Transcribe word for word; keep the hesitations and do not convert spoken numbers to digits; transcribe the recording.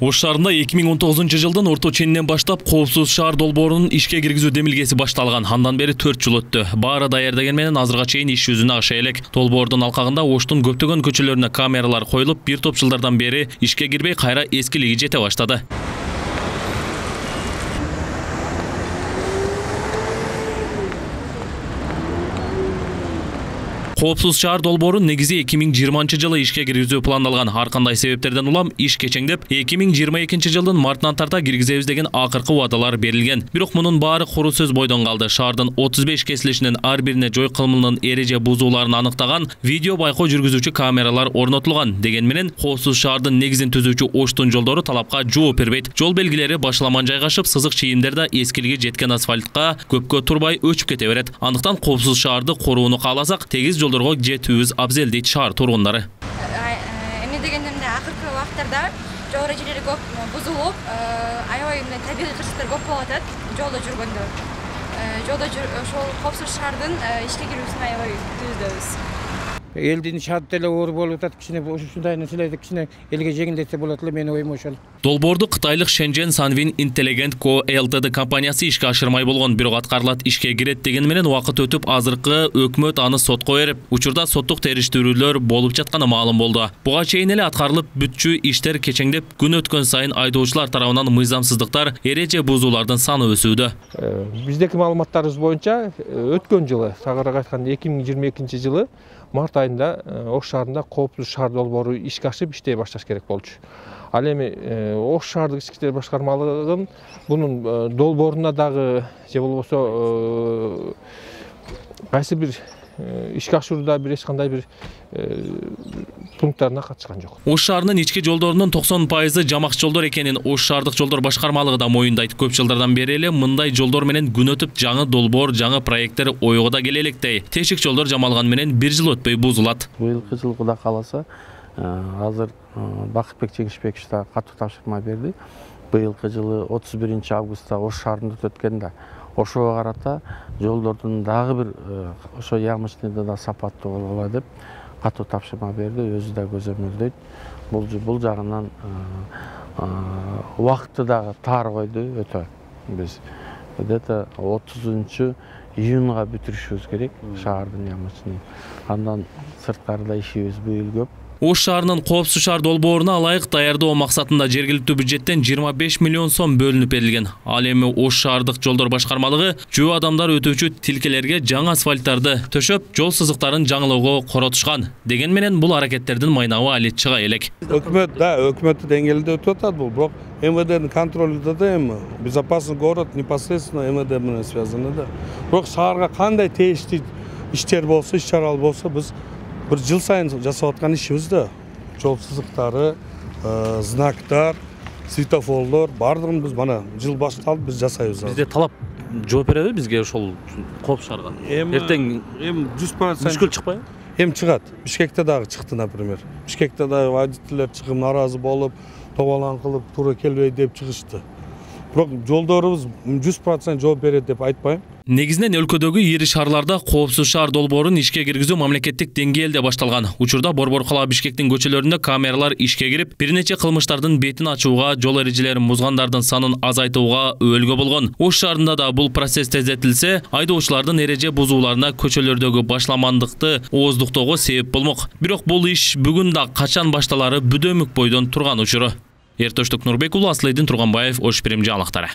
Ош шаарында эки миң он тогузунчу жылдын орто ченинен баштап коопсуз шаар долбоорунун ишке киргизүү демилгеси башталган. Андан бери төрт жыл өттү. Баары даярдеген менен азырга чейин иш жүзүнө аша элек. Долбоордун алкагында Оштун көптөгөн көчөлөрүнө камералар коюлуп, бир топ жылдардан бери ишке кирбей кайра эскилиги жете баштады. Коопсуз шаар долбоору негизи эки миң жыйырманчы жылы ишке киргизүү пландалган. Ар кандай себептерден улам иш кечеңдеп, эки миң жыйырма экинчи жылдын мартынан тарта киргизебиз деген акыркы убадалар берилген. Бирок мунун баары куру сөз бойдон калды. Шаардын отуз беш кесилишинин ар бирине жой кылмынын эреже бузууларын аныктаган видео байкоо жүргүзүүчү камералар орнотулган. Деген менен коопсуз шаардын негизин түзүүчү Оштун жолдору талапка жооп бербейт. Жол белгилери башаламан жайгашып, сызык чийимдер да эскилиги жеткен асфальтка көпкө турбай өчүп кете берет. Андыктан коопсуз шаарды корууну кааласак, тегиз жолдорго жетүүбүз абзел дейт шаар тургундары. Эми дегендемде акыркы убакыттарда жол эрежелери көп бузулуп, аябай мындай табигый кырсыктар көп болуп атат жолдо жүргөндө. Жолдо ошол коопсуз шаардын ишке кирүүсүн аябай күтүүбүз. Элдин шаардык эле оор болуп атат, кичине ушундай нерселерди кичине элге жеңилдетсе болот эле, менин оюм ошол. Долбоорду кытайлык Shenzhen Sunwin Intelligent Co Ltd компаниясы ишке ашырмай болгон, бирок аткарылат ишке кирет деген менен убакыт өтүп, азыркы өкмөт аны сотко берип, учурда соттук териштирүүлөр болуп жатканы маалым болду. Буга чейин эле аткарылып бүтчү иштер кечеңдеп, күн өткөн сайын айдоочулар тарабынан мыйзамсыздыктар, эреже бузуулардын саны өсүүдө. Биздеки маалыматтарыбыз боюнча өткөн жылы, тагыраак айтканда эки миң жыйырма экинчи жылы март айында Ош шаарында коопсуз шаар долбоору ишке ашып иштей башташ керек болчу. Ал эми Ош шаардык ички иштер башкармалыгын бунун долбооруна дагы же болбосо кайсы бир ишке ашууда бир эч кандай бир пункттарына катышкан жок. Ош шаарынын ички жолдорунун токсон пайызы жамак жолдор экенин Ош шаардык жолдор башкармалыгы да моюндайт. Көп жылдардан бери эле мындай жолдор менен күн өтүп, жаңы долбоор, жаңы проекттер ойго да келе электей. Тешик жолдор жамалган менен бир жыл өтпөй бузулат. Быйылкы жылы Кудай кааласа, азыр Бакытбек Жеңишбекович да катуу тапшырма берди. Быйылкы жылы отуз биринчи августта Ош шаарында өткөн да ошого карата жолдордун дагы бир ошо ямочныйда да сапаттуу бололу деп катуу тапшырма берди, өзү да көзөмөлдөйт. Бул бул жагынан убакытты дагы таар койду өтө. Биз где-то отузунчу июнга бүтүрүшүбүз керек шаардын ямочныйын. Андан сырткарыда ишибиз быйыл көп. Ош шаарынын коопсуз шаар долбооруна ылайык даярдоо максатында жергиликтүү бюджеттен жыйырма беш миллион сом бөлүнүп берилген. Ал эми Ош шаардык жолдор башкармалыгы жөө адамдар өтүүчү тилкелерге жаңы асфальттарды төшөп, жол сызыктарын жаңылоого коротушкан. Деген менен бул аракеттердин майнабы али чыга элек. Өкмөт да, өкмөт деңгээлинде өтүп атат бул, бирок эм вэ дэнин контролунда да эми безопасный город непосредственно эм вэ дэ менен связаны да. Бирок шаарга кандай тийиштүү иштер болсо, иш-чаралар болсо, биз bir жыл сайын жасап аткан ишибиз да. Жол сызыктары, знактар, светофорлор бардыгын биз мана жыл башталып биз жасайбыз. Бизде талап жооп береби бизге ошол коопсуз шаарга? Эртең эми жүз процент мүшкүл чыкпайбы? Эми чыгат. Бишкекте дагы чыкты, например. Бишкекте дагы водительдер чыгып нааразы болуп, тобалан кылып, туура келбей деп чыгышты. Бирок жолдорубуз жүз процент жооп берет деп айтпайм. Негизинен өлкөдөгү ири шаарларда коопсуз шаар долбоорун ишке киргизүү мамлекеттик деңгээлде башталган. Учурда Борбор кала Бишкектин көчөлөрүндө камералар ишке кирип, бир нече кылмыштардын бетин ачууга, жол эрежелерин бузгандардын санын азайтууга өбөлгө болгон. Ош шаарында да бул процесс тездетилсе, айдоочулардын эреже бузууларына, көчөлөрдөгү башламандыкты ооздуктоого себеп болмок. Бирок бул иш бүгүн да качан башталары бүдөмүк бойдон турган учуру. Эртөштүк Нурбек уулу, Аслыйдын Турганбаев, Ош Пирим жаңылыктары.